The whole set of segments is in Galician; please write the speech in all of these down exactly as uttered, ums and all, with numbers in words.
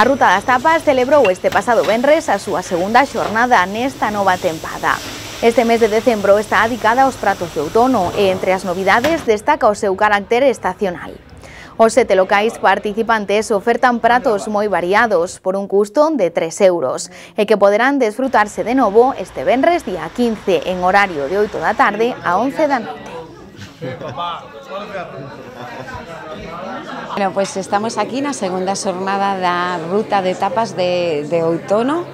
A Ruta das Tapas celebrou este pasado venres a súa segunda xornada nesta nova tempada. Este mes de decembro está dedicada aos pratos de outono e entre as novidades destaca o seu carácter estacional. Os sete locais participantes ofertan pratos moi variados por un custo de tres euros e que poderán desfrutarse de novo este venres día quince en horario de oito da tarde a once da noite. Bueno, pues estamos aquí na segunda xornada da Ruta de Tapas de, de outono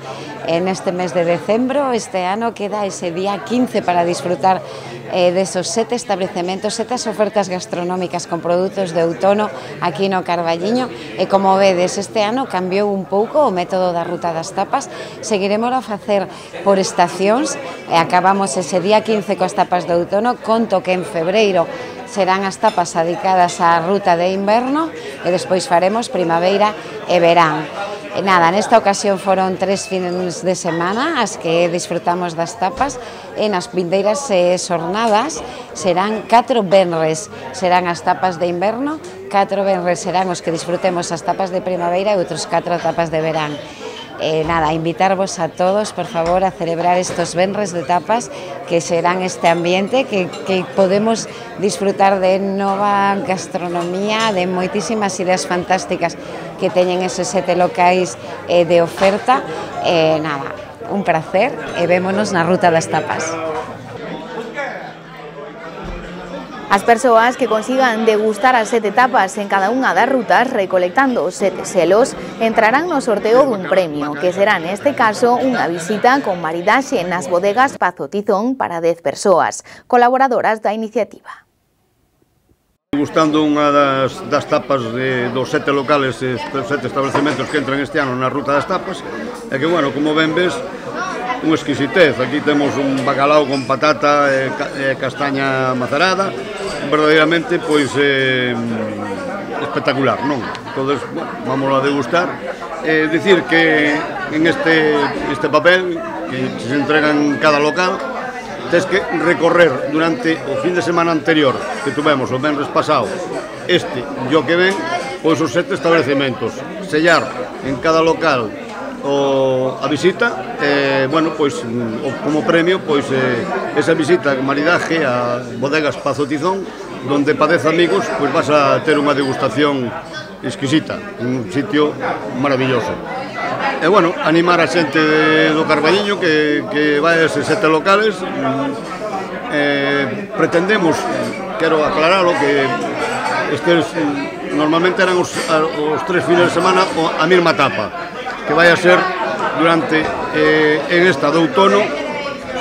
en este mes de decembro. Este ano queda ese día quince para disfrutar eh, desos sete establecementos, sete ofertas gastronómicas con produtos de outono aquí no Carballiño. E como vedes, este ano cambiou un pouco o método da Ruta das Tapas. Seguiremos a facer por estacións e acabamos ese día quince coas tapas de outono. Conto que en febreiro serán as tapas dedicadas á ruta de inverno e despois faremos primavera e verán. E nada, nesta ocasión foron tres fins de semana as que disfrutamos das tapas e nas vindeiras xornadas serán catro venres, serán as tapas de inverno, catro venres serán os que disfrutemos as tapas de primavera e outros catro tapas de verán. Eh, nada, invitarvos a todos, por favor, a celebrar estos venres de tapas que serán este ambiente que, que podemos disfrutar de nova gastronomía, de moitísimas ideas fantásticas que teñen esos sete locais eh, de oferta. Eh, nada, un placer e vémonos na Ruta das Tapas. As persoas que consigan degustar as sete tapas en cada unha das rutas recolectando os sete selos entrarán no sorteo dun premio, que será neste caso unha visita con maridaxe nas bodegas Pazo Tizón para dez persoas, colaboradoras da iniciativa. Gustando unha das, das tapas de, dos sete locales, dos sete establecementos que entran este ano na Ruta das Tapas, e que, bueno, como ben ves, unha exquisitez. Aquí temos un bacalao con patata e, e castaña macerada, verdadeiramente, pois, eh, espectacular, non? Entón, bueno, vamos a degustar. Eh, dicir que en este, este papel que se entrega en cada local, tens que recorrer durante o fin de semana anterior que tuvemos o venres pasado, este e o que ven, pois os sete establecementos, sellar en cada local o, a visita, eh, bueno, pois o, como premio, pois eh, esa visita con maridaje a bodegas Pazo Tizón, donde pa dez amigos pois vas a ter unha degustación exquisita, un sitio maravilloso. E, bueno, animar a xente do Carballiño que, que vai a eses sete locales. Eh, pretendemos, quero aclaralo, que estes normalmente eran os, os tres fines de semana a mesma etapa, que vai a ser durante eh, en esta de outono,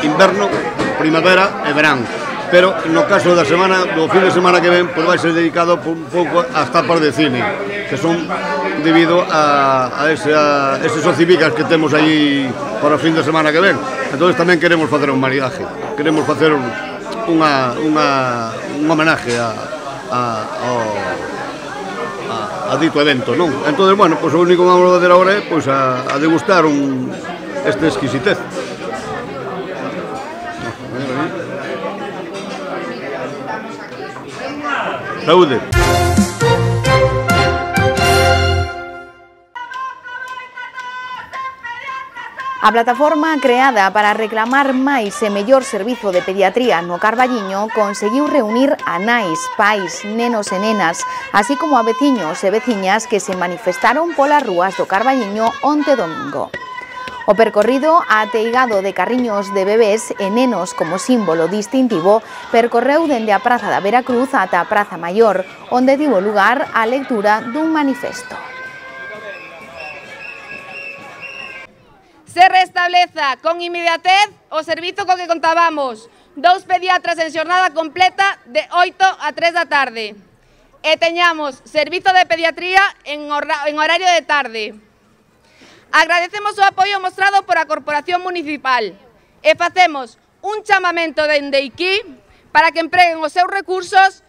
inverno, primavera e verán. Pero no caso da semana, do fin de semana que ven, pois vai ser dedicado un pouco ás tapas de cine, que son debido a, a, ese, a eses ocibicas que temos aí para o fin de semana que ven. Entón tamén queremos facer un maridaje, queremos facer unha, unha, un homenaje a, a, a, a dito evento, non? Entón, bueno, pois o único que vamos a fazer agora é pois, a, a degustar un, este exquisitez. Saúde. A plataforma creada para reclamar máis e mellor servizo de pediatría no Carballiño conseguiu reunir a nais, pais, nenos e nenas, así como a veciños e veciñas que se manifestaron polas rúas do Carballiño onte domingo. O percorrido ateigado de carriños de bebés e nenos como símbolo distintivo percorreu dende a Praza da Veracruz ata a Praza Maior, onde tivo lugar a lectura dun manifesto. Se restableza con inmediatez o servizo co que contábamos, dous pediatras en xornada completa de oito a tres da tarde. E teñamos servizo de pediatría en horario de tarde. Agradecemos o apoio mostrado por a Corporación Municipal e facemos un chamamento dende aquí para que empreguen os seus recursos,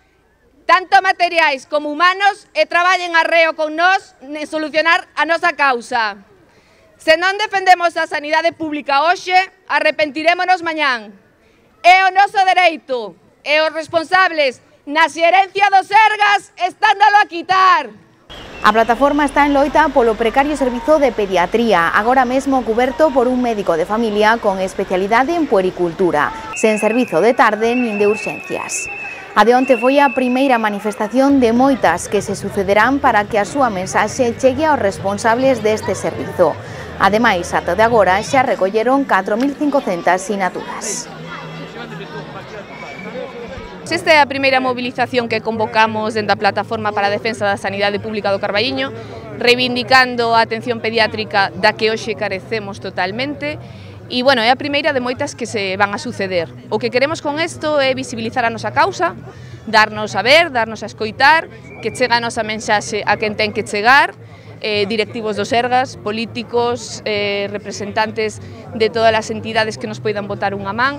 tanto materiais como humanos, e traballen arreo con nós en solucionar a nosa causa. Se non defendemos a sanidade pública hoxe, arrepentirémonos mañán. É o noso dereito, e os responsables na xerencia do Sergas estándalo a quitar. A plataforma está en loita polo precario servizo de pediatría, agora mesmo cuberto por un médico de familia con especialidade en puericultura, sen servizo de tarde nin de urxencias. A de onte foi a primeira manifestación de moitas que se sucederán para que a súa mensaxe chegue aos responsables deste servizo. Ademais, ata de agora xa recolleron catro mil cincocentas sinaturas. Esta é a primeira mobilización que convocamos dentro da Plataforma para a Defensa da Sanidade Pública do Carballiño, reivindicando a atención pediátrica da que hoxe carecemos totalmente. E, bueno, é a primeira de moitas que se van a suceder. O que queremos con isto é visibilizar a nosa causa, darnos a ver, darnos a escoitar, que chega a nosa mensaxe a quen ten que chegar, eh, directivos do Sergas, políticos, eh, representantes de todas as entidades que nos poidan botar unha man.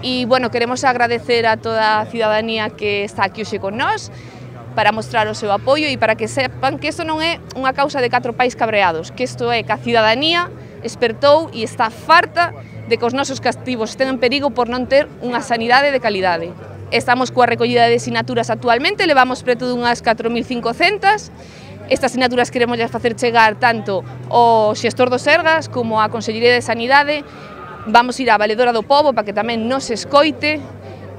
E, bueno, queremos agradecer a toda a cidadanía que está aquí hoxe con nós para mostrar o seu apoio e para que sepan que isto non é unha causa de catro pais cabreados, que isto é que a cidadanía espertou e está farta de que os nosos castivos estén en perigo por non ter unha sanidade de calidade. Estamos coa recollida de sinaturas actualmente, levamos preto dunhas catro mil cincocentas. Estas sinaturas queremos facer chegar tanto ao xestor do Sergas como á Consellería de Sanidade. Vamos ir á Valedora do Pobo para que tamén nos escoite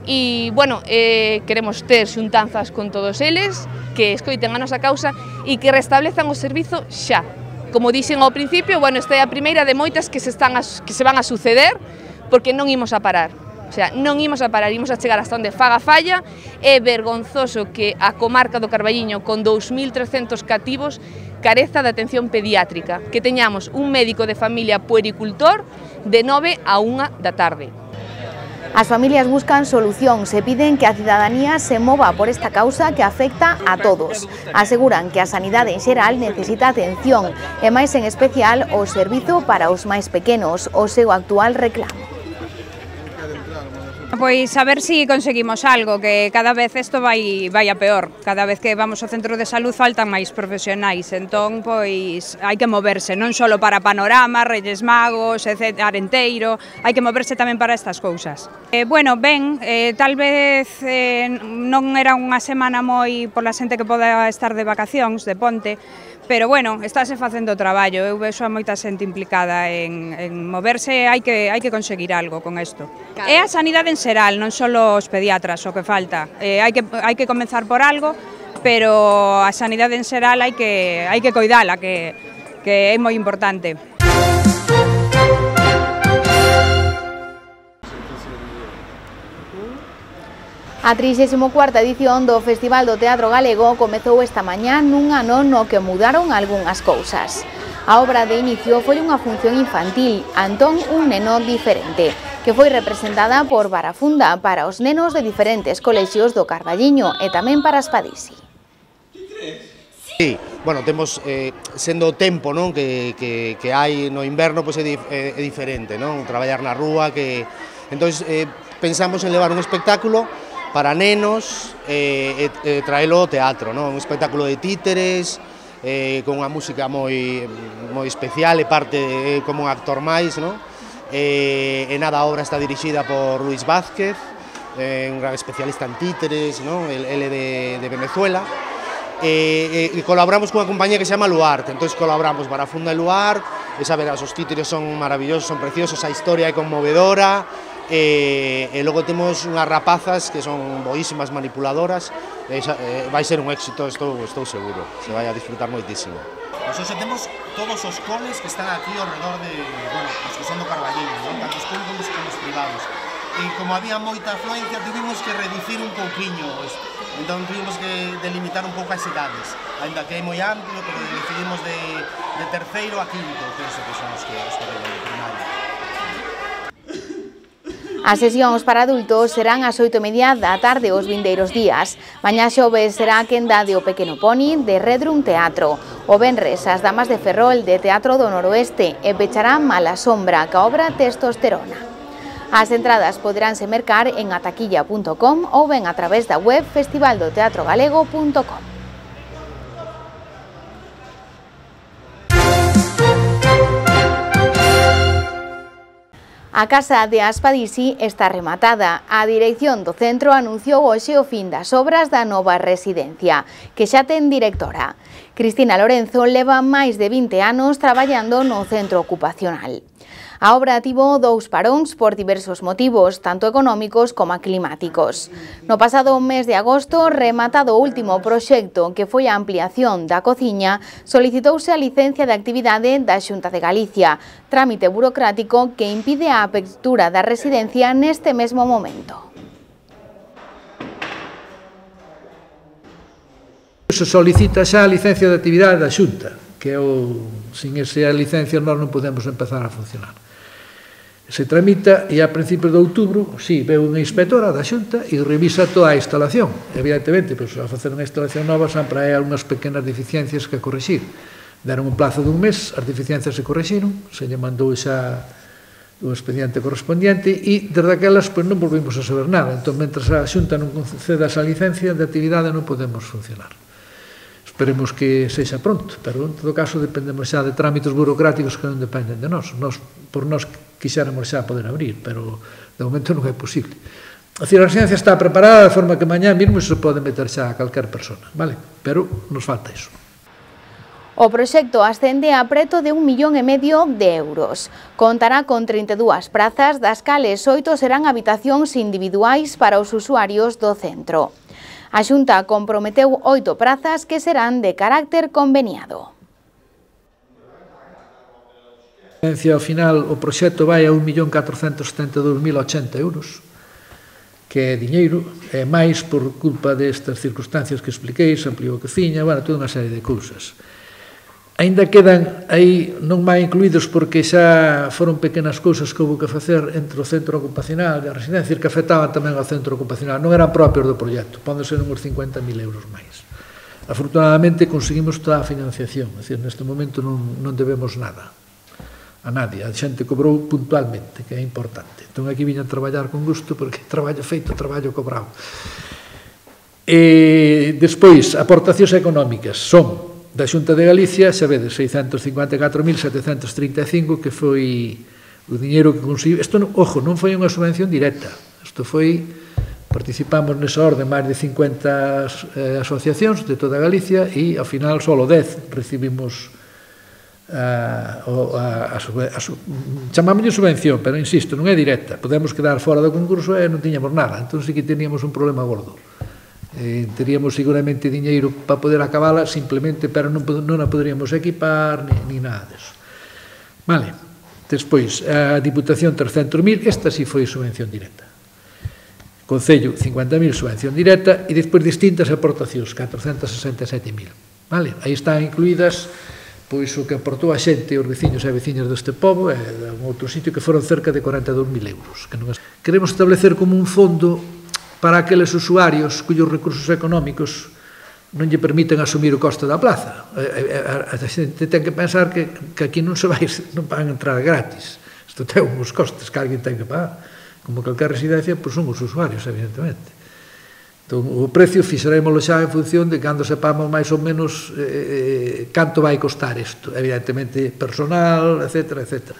e, bueno, eh, queremos ter xuntanzas con todos eles, que escoiten a nosa causa e que restablezan o servizo xa. Como dixen ao principio, bueno, esta é a primeira de moitas que se, están a, que se van a suceder porque non imos a parar. O sea, non imos a parar, imos a chegar hasta onde faga falla. É vergonzoso que a comarca do Carballiño, con dous mil trescentos cativos, careza de atención pediátrica, que teñamos un médico de familia puericultor de nove a unha da tarde. As familias buscan solucións e piden que a cidadanía se mova por esta causa que afecta a todos. Aseguran que a sanidade en xeral necesita atención e máis en especial o servizo para os máis pequenos, o seu actual reclamo. Pois a ver si conseguimos algo, que cada vez isto vai, vai a peor. Cada vez que vamos ao centro de salud faltan máis profesionais, entón pois hai que moverse, non só para Panorama, Reyes Magos, etcétera, Arenteiro, hai que moverse tamén para estas cousas. Eh, bueno, ben, eh, tal vez eh, non era unha semana moi pola xente que poda estar de vacacións, de ponte, pero bueno, estáse facendo o traballo, eu vexo a moita xente implicada en, en moverse, hai que, hai que conseguir algo con isto. Claro. É a sanidade en xeral, non só os pediatras o que falta, eh, hai, que, hai que comenzar por algo, pero a sanidade en xeral hai que, hai que coidala, que, que é moi importante. A trixésima cuarta edición do Festival do Teatro Galego comezou esta mañá nun ano no que mudaron algunhas cousas. A obra de inicio foi unha función infantil, Antón, un neno diferente, que foi representada por Barafunda para os nenos de diferentes colexios do Carballiño e tamén para Espadisi. Sí, bueno, temos, eh, sendo o tempo, non, que, que, que hai no inverno, pois é, é, é diferente, non, traballar na rúa, que... Entón, eh, pensamos en levar un espectáculo para nenos e, e, e traelo ao teatro, non? Un espectáculo de títeres, eh, con unha música moi, moi especial e parte eh, como un actor máis, non? E, e nada, a obra está dirixida por Luis Vázquez, eh, un gran especialista en títeres, non? El, el de, de Venezuela, e, e, e colaboramos cunha compañía que se chama Luarte, entón colaboramos Barafunda e Luar, e saberás, os títeres son maravillosos, son preciosos, a historia é conmovedora, E, e logo temos unhas rapazas que son boísimas manipuladoras, e, e vai ser un éxito, estou, estou seguro, se vai a disfrutar moitísimo. Pois hoxe temos todos os coles que están aquí ao redor de, bueno, os que son do Carballiño, non? Tanto os públicos como os privados. E como había moita afluencia, tivemos que reducir un pouquiño, entón tivemos que delimitar un pouco as idades, ainda que é moi amplio, pero decidimos de, de terceiro a quinto, penso que son os que, os que veñen de primaria. As sesións para adultos serán ás oito e media da tarde os vindeiros días. Mañá xoves será a quenda de O Pequeno Poni de Redrum Teatro. O venres as Damas de Ferrol de Teatro do Noroeste e pechará Mala Sombra ca obra Testosterona. As entradas poderánse mercar en ataquilla punto com ou ben a través da web festival do teatro galego punto com. A casa de Aspadisi está rematada. A dirección do centro anunciou hoxe o fin das obras da nova residencia, que xa ten directora. Cristina Lorenzo leva máis de vinte anos traballando no centro ocupacional. A obra tivo dous paróns por diversos motivos, tanto económicos como climáticos. No pasado mes de agosto, rematado o último proxecto, que foi a ampliación da cociña, solicitouse a licencia de actividade da Xunta de Galicia, trámite burocrático que impide a apertura da residencia neste mesmo momento. Se solicita xa a licencia de actividade da Xunta, que é o, sin esa licencia nós non podemos empezar a funcionar. Se tramita e a principios de outubro, si, veu unha inspectora da Xunta e revisa toda a instalación. Evidentemente, pois, a facer unha instalación nova sempre hai algunhas pequenas deficiencias que corrixir. Deron un plazo dun mes, as deficiencias se corrixiron, se lle mandou xa o expediente correspondiente e desde aquelas pois, non volvimos a saber nada. Entón, mentre a Xunta non conceda esa licencia de actividade non podemos funcionar. Esperemos que sexa pronto, pero en todo caso dependemos xa de trámites burocráticos que non dependen de nós. Nos por nós quixéramos xa poder abrir, pero de momento non é posible. A residencia está preparada de forma que mañá mesmo se pode meter xa a calquer persona, vale? Pero nos falta iso. O proxecto ascende a preto de un millón e medio de euros. Contará con trinta e dúas prazas, das cales oito serán habitacións individuais para os usuarios do centro. A Xunta comprometeu oito prazas que serán de carácter conveniado. Ao final, o proxecto vai a un millón catrocentos setenta e dous mil ochenta euros, que é diñeiro, é máis por culpa destas circunstancias que expliquei, se ampliou a cociña, bueno, toda unha serie de cousas. Ainda quedan aí non máis incluídos porque xa foron pequenas cousas que houve que facer entre o centro ocupacional e a residencia que afectaban tamén ao centro ocupacional, non eran propios do proxecto, poden ser uns cincuenta mil euros máis. Afortunadamente conseguimos toda a financiación, é dicir, neste momento non, non debemos nada a nadie, a xente cobrou puntualmente, que é importante. Entón aquí viña a traballar con gusto porque traballo feito, traballo cobrado. E despois, aportacións económicas son da Xunta de Galicia, xa vedes, seiscentos cincuenta e catro mil setecentos trinta e cinco, que foi o diñeiro que conseguiu. Isto, ojo, non foi unha subvención directa. Isto foi, participamos nesa orde máis de cincuenta eh, asociacións de toda Galicia e, ao final, só dez recibimos a, a, a, a, a chamámoslle subvención, pero, insisto, non é directa. Podemos quedar fora do concurso e non tiñamos nada. Entón, sí que teníamos un problema gordo. Eh, teríamos seguramente diñeiro para poder acabala simplemente, pero non, non a poderíamos equipar ni, ni nada deso. Vale, despois a Diputación trescentos mil, esta sí foi subvención directa. Concello cincuenta mil subvención directa e despois distintas aportacións, catrocentos sesenta e sete mil. Vale, aí están incluídas pois o que aportou a xente, os veciños e veciñas deste pobo e de outro sitio que foron cerca de corenta e dous mil euros. Que non es... Queremos establecer como un fondo para aqueles usuarios cuyos recursos económicos non lle permiten asumir o coste da plaza. A, a, a xente ten que pensar que, que aquí non se vai, non van entrar gratis. Isto ten uns costes que alguén ten que pagar. Como calquer residencia, pois son os usuarios, evidentemente. Entón, o precio fixarémoslo xa en función de cando sepamos máis ou menos eh, canto vai costar isto. Evidentemente, personal, etcétera, etcétera.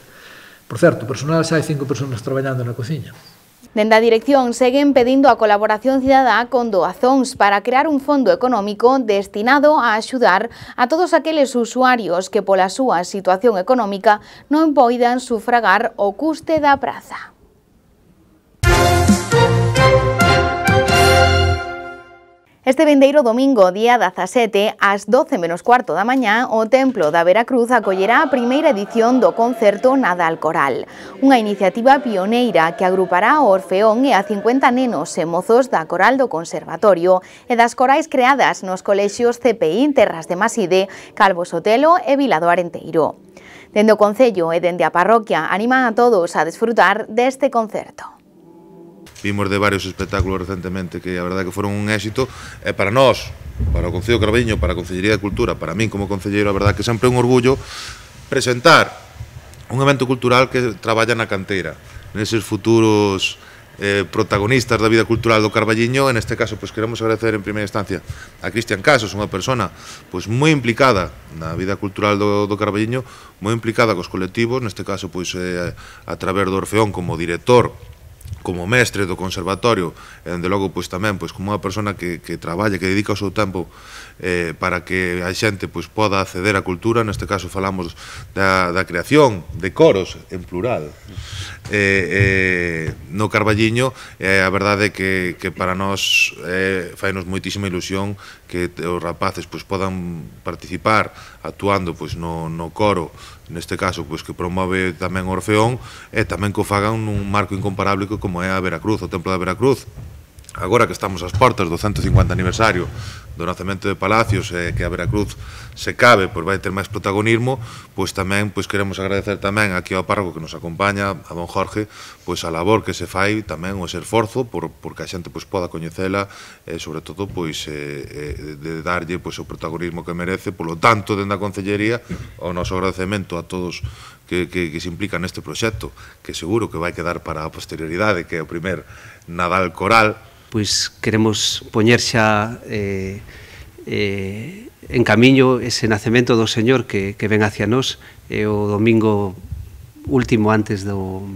Por certo, personal xa hai cinco persoas traballando na cociña. Dende a dirección seguen pedindo a colaboración cidadá con doazóns para crear un fondo económico destinado a axudar a todos aqueles usuarios que pola súa situación económica non poidan sufragar o custe da praza. Este vindeiro domingo, día dezasete, ás doce menos cuarto da mañá, o Templo da Veracruz acollerá a primeira edición do concerto Nadal Coral, unha iniciativa pioneira que agrupará o Orfeón e a cincuenta nenos e mozos da Coral do Conservatorio e das corais creadas nos colexios C P I Terras de Maside, Calvo Sotelo e Vila do Arenteiro. Dende o Concello e dende a parroquia animan a todos a desfrutar deste concerto. Vimos de varios espectáculos recentemente que a verdade que foron un éxito e para nós, para o Concello de Carballiño, para a Concellería de Cultura, para min como concelleiro, a verdade que sempre é un orgullo presentar un evento cultural que traballa na canteira, neses futuros eh, protagonistas da vida cultural do Carballiño. En este caso, pois, queremos agradecer en primeira instancia a Cristian Casas, unha persona pois, moi implicada na vida cultural do, do Carballiño, moi implicada cos colectivos, neste caso pois, eh, a través do Orfeón como director, como mestre do conservatorio, e dende logo pois tamén pois como unha persona que, que traballa, que dedica o seu tempo eh, para que a xente pois poda acceder á cultura. Neste caso falamos da, da creación de coros en plural eh, eh, no Carballiño. E eh, a verdade é que, que para nós eh, fainos moitísima ilusión que os rapaces pois podan participar actuando pois no, no coro, neste caso pois que promove tamén o Orfeón, e tamén que o fagan nun marco incomparable como é a Veracruz, o Templo da Veracruz. Agora que estamos ás portas do ciento cincuenta aniversario do nacemento de Palacios, e que a Veracruz se cabe, pois vai ter máis protagonismo, pois tamén pois queremos agradecer tamén aquí ao párroco que nos acompaña, a don Jorge, pois a labor que se fai tamén, o esforzo por porque a xente pois poda coñecela, e sobre todo pois eh, de darlle pois o protagonismo que merece. Polo tanto, dende a Concellería, o noso agradecemento a todos que, que, que se implican neste proxecto, que seguro que vai quedar para a posterioridade, que é o primer Nadal coral. Pois queremos poñer xa eh, eh, en camiño ese nacemento do Señor que, que ven hacia nós, e o domingo último antes do,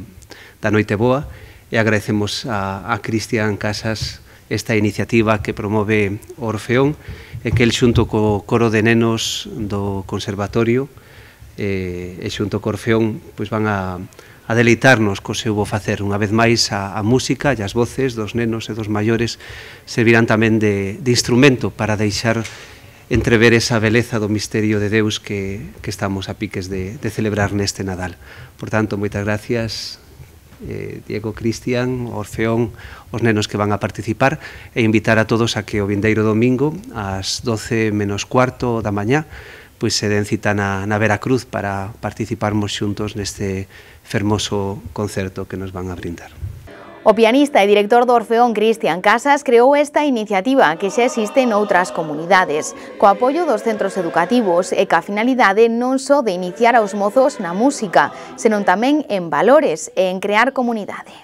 da Noite Boa, e agradecemos a, a Cristian Casas esta iniciativa que promove o Orfeón, e que el xunto co coro de nenos do Conservatorio e, e xunto co Orfeón pois van a a deleitarnos co seu bo facer. Unha vez máis, a, a música e as voces dos nenos e dos maiores servirán tamén de, de instrumento para deixar entrever esa beleza do misterio de Deus que, que estamos a piques de, de celebrar neste Nadal. Por tanto, moitas gracias, eh, Diego, Cristian, Orfeón, os nenos que van a participar, e invitar a todos a que o vindeiro domingo, ás doce menos cuarto da mañá, pois se den cita na, na Veracruz para participarmos xuntos neste fermoso concerto que nos van a brindar. O pianista e director do Orfeón Cristian Casas creou esta iniciativa que xa existe noutras comunidades, co apoio dos centros educativos e ca finalidade non só de iniciar aos mozos na música, senón tamén en valores e en crear comunidade.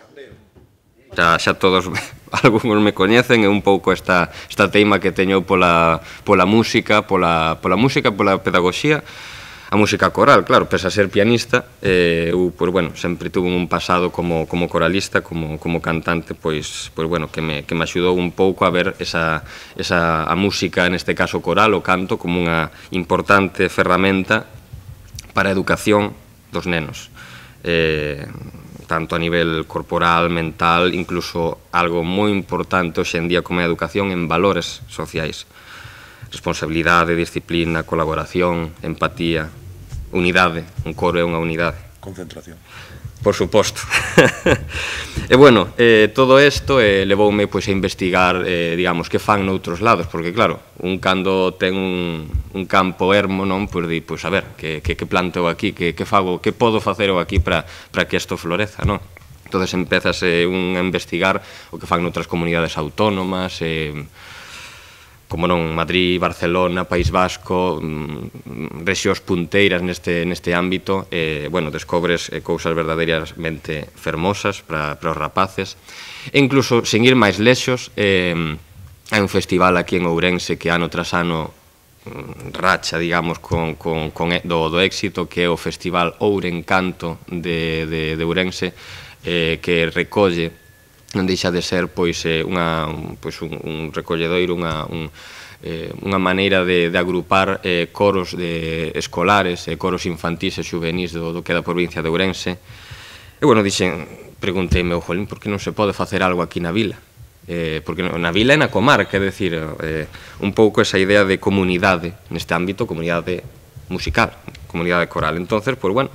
Xa, xa todos, algúns me coñecen, é un pouco esta, esta teima que teño pola, pola música, pola, pola música, pola pedagogía, a música coral, claro, pese a ser pianista, eh, eu, pois, bueno, sempre tuve un pasado como, como coralista, como, como cantante, pois, pois, bueno, que me, que me axudou un pouco a ver esa, esa, a música, neste caso coral, o canto, como unha importante ferramenta para a educación dos nenos. Eh, tanto a nivel corporal, mental, incluso algo moi importante hoxe en día como a educación en valores sociais. Responsabilidade, disciplina, colaboración, empatía, unidade. Un coro é unha unidade. Concentración. Por suposto. E, bueno, eh, todo isto eh, levoume pois, a investigar, eh, digamos, que fan noutros lados, porque, claro, un cando ten un, un campo ermo, non, pois, di, pois, a ver, que, que, que planteo aquí, que, que fago, que podo facer eu aquí para que isto floreza, non? Entón, empezas eh, un a investigar o que fan noutras comunidades autónomas, eh, como non, Madrid, Barcelona, País Vasco, rexións punteiras neste, neste ámbito, eh, bueno, descobres eh, cousas verdadeiramente fermosas para, para os rapaces. E incluso, sen ir máis lexos, eh, hai un festival aquí en Ourense que ano tras ano racha, digamos, con, con, con do, do éxito, que é o Festival Ourencanto de, de, de Ourense, eh, que recolle, non deixa de ser pois unha pois un, un recolledoiro, unha un, eh, unha maneira de, de agrupar eh, coros de escolares e eh, coros infantís e xuvenís do, do que é da provincia de Ourense. E, bueno, dixen, pregunteime, oh, jolín, por que non se pode facer algo aquí na vila? Eh, porque na vila e na comarca, é dicir, eh, un pouco esa idea de comunidade neste ámbito, comunidade musical, comunidade coral. Entonces, pois, bueno,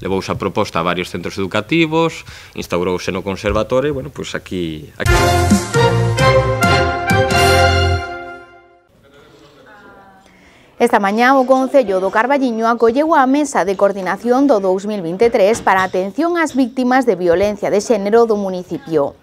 levouse a proposta a varios centros educativos, instaurouse no conservatorio, e, bueno, pois aquí... aquí. Esta mañá o Concello do Carballiño acolleu a Mesa de Coordinación do dous mil vinte e tres para a atención ás víctimas de violencia de xénero do municipio.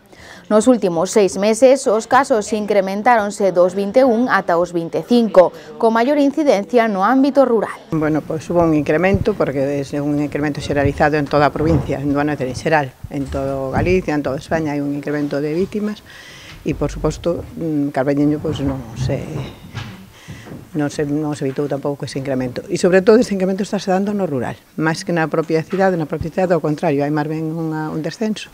Nos últimos seis meses, os casos incrementáronse dos vinte e un ata os vinte e cinco, con maior incidencia no ámbito rural. Bueno, pois hubo un incremento, porque é un incremento xeralizado en toda a provincia, en Duano en xeral, en todo Galicia, en toda España hai un incremento de vítimas e, por suposto, Carballiño pois non se... non se, non se evitou tampouco ese incremento. E, sobre todo, ese incremento está se dando no rural, máis que na propia cidade, na propia cidade, ao contrario, hai máis ben unha, un descenso.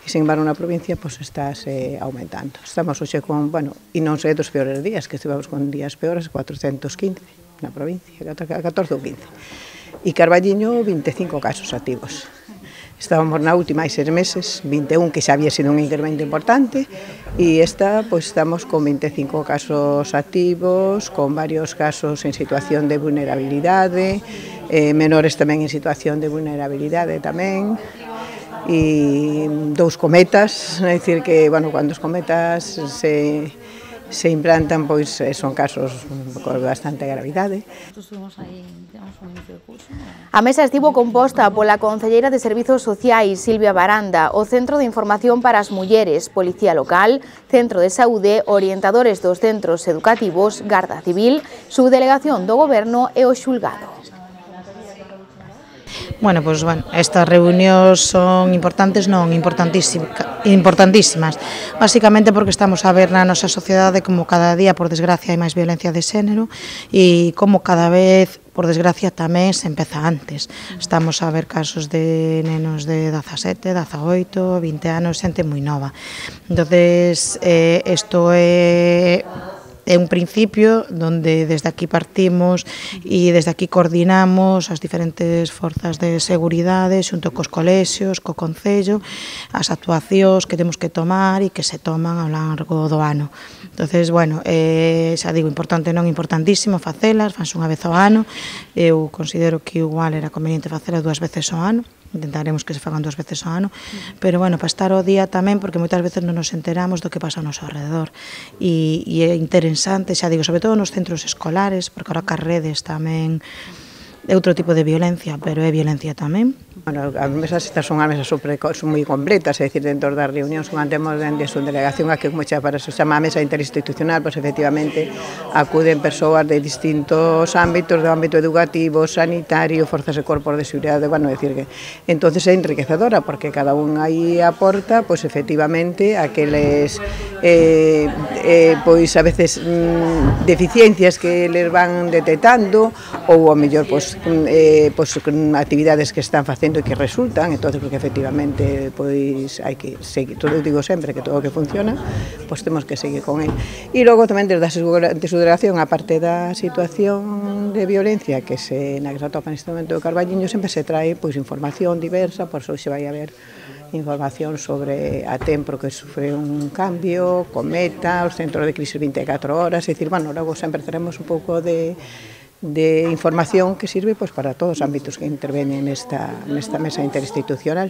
E, sin embargo, na provincia, pois, está se aumentando. Estamos hoxe con, bueno, e non sei dos peores días, que estivemos con días peores, cuatrocentos quince na provincia, catorce ou quince. E Carballiño, vinte e cinco casos activos. Estábamos na última hai seis meses, vinte e un, que xa había sido un incremento importante, e esta, pois, estamos con vinte e cinco casos activos, con varios casos en situación de vulnerabilidade, eh, menores tamén en situación de vulnerabilidade tamén, e dous cometas, é dicir que, bueno, cando os cometas se... se implantan, pois son casos con bastante gravidade. A mesa estivo composta pola concelleira de Servizos Sociais, Silvia Baranda, o Centro de Información para as Mulleres, Policía Local, Centro de Saúde, orientadores dos centros educativos, Garda Civil, Subdelegación do Goberno e o Xulgado. Bueno, pois, bueno, estas reunións son importantes, non, importantísimas, importantísimas, basicamente porque estamos a ver na nosa sociedade como cada día, por desgracia, hai máis violencia de xénero e como cada vez, por desgracia, tamén se empeza antes. Estamos a ver casos de nenos de dezasete, dezaoito, vinte anos, xente moi nova. Entonces, eh, isto é... é un principio onde desde aquí partimos e desde aquí coordinamos as diferentes forzas de seguridade xunto cos colexios, co Concello, as actuacións que temos que tomar e que se toman ao largo do ano. Entonces, bueno, eh, xa digo, importante non importantísimo facelas, fanse unha vez ao ano, eu considero que igual era conveniente facelas dúas veces ao ano, intentaremos que se fagan dúas veces ao ano, pero, bueno, para estar ao día tamén, porque moitas veces non nos enteramos do que pasa ao noso alrededor, e, e é interesante, xa digo, sobre todo nos centros escolares, porque ahora cas redes tamén é outro tipo de violencia, pero é violencia tamén. Bueno, as mesas estas son as mesas super, son moi completas, é dicir, dentro das reunións que mantemos dende a delegación, a que como xa para se chama a mesa interinstitucional, pois efectivamente acuden persoas de distintos ámbitos, do ámbito educativo, sanitario, forzas e corpos de seguridade, bueno, é dicir que entonces é enriquecedora, porque cada un aí aporta, pois efectivamente, aqueles eh, eh, pois a veces mm, deficiencias que les van detectando, ou ao mellor pois, eh, pois actividades que están facendo e que resultan, entonces porque efectivamente pois hai que seguir, todo eu digo sempre que todo o que funciona, pois temos que seguir con el. E logo tamén desde a subdelegación, a parte da situación de violencia que se na que se atopa neste momento do Carballiño, sempre se trae pois información diversa, por eso se vai a ver información sobre a Tempro que sufre un cambio, Cometa, os centros de crisis vinte e catro horas, é dicir, bueno, logo sempre teremos un pouco de de información que sirve pois, para todos os ámbitos que intervenen nesta, nesta mesa interinstitucional.